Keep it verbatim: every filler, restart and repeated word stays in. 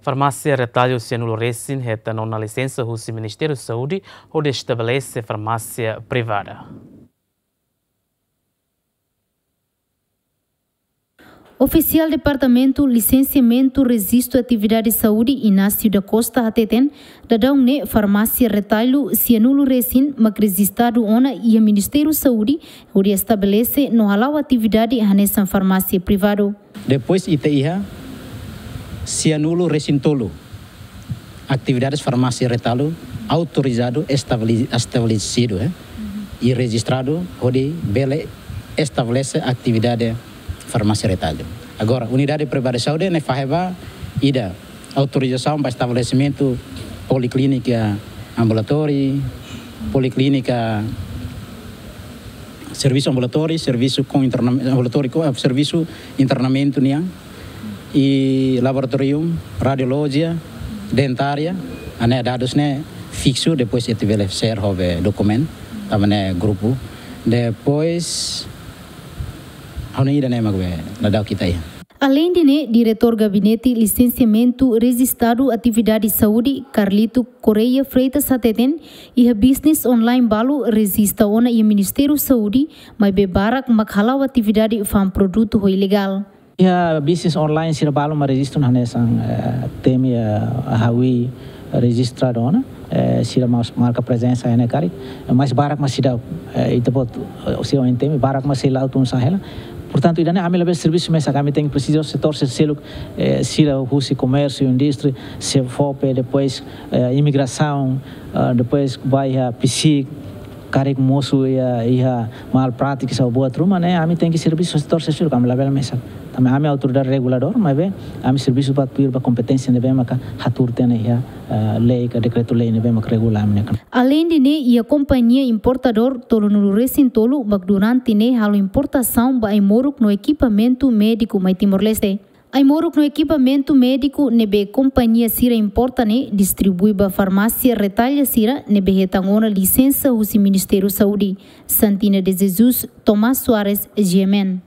Farmásia Retalho Cianulu Resin hetan ona lisensa husi Ministériu Saúde hodi estabelese farmásia privada. Ofisiál Departamentu Lisensiamentu Rejistu Atividade Saúde, Inácio da Costa, hateten, daudaun ne'e Farmásia Retalho Cianulu Resin mak rejistadu ona iha Ministériu Saúde hodi estabelese no hala'o atividade hanesan farmásia privadu. Depois ita iha Cianulu Resin tolu, atividades Farmásia Retalho autorizadu, estabele-, estabelesidu, eh, i rejistradu hodi bele estabelese atividade Farmásia Retalho. Agora, unidade privada de saúde ne'e fahe ba ida autorizasaun ba estabelesimentu poliklínika ambulatóriu, poliklínika, servisu ambulatóriu, servisu ho interna-, ambulatóriu ho, eh, servisu internamentu nian, i laboratóriu, radiolojia, dentária, hanesan dadus ne'e fiksu, depois ita bele share ho be dokumentu, tanba ne'e grupu. Depois, ha'u-nia ida ne'e mak be daudaun ita iha. Aleinde ne'e, Diretór Gabinete Lisensiamentu Rejistadu Atividade Saúde, Carlito Correia Freitas, hateten, iha business online balu rejista ona iha Ministériu Saúde, maibé barak mak hala'o atividade fa'an produtu ho ilegál. Iha business online sira balu mak rejistu hanesan, eh, Temi, eh, Hawi rejistradu ona, eh, sira mós marka prezensa iha ne'e karik, eh, mas barak mak seidauk, eh, ita-boot, eh, sei oin Temi, barak mak sei la'o tun sa'e hela. Portantu, ida-ne'e ami labele servisu mesak, ami tenke presiza setór sira seluk, eh, sira husi komérsiu, indústria, SEFOPE, depois, eh, imigrasaun, ah, depois ba iha PCIC, karik mosu iha, iha mal prátika ou buat ruma ne'e, ami tenke servisu setór sira seluk, ami labele mesak. Tanba ami autoridade reguladór, maibé ami servisu ba tuir ba kompeténsia ne'ebé maka hatuur tiha ona iha, ah, lei ka dekretu-lei ne'ebé maka regula ami ne'e. Aleinde ne'e, iha kompañia importadór tolunulu resin tolu mak durante ne'e halo importasaun ba ai-moruk no ekipamentu médiku mai Timor-Leste. Ai-moruk no ekipamentu médiku ne'ebé kompañia sira importa ne'e distribui ba farmásia Retalho sira ne'ebé hetan ona lisensa husi Ministériu Saúde. Santina de Jesus, Tomás Soares, G M N.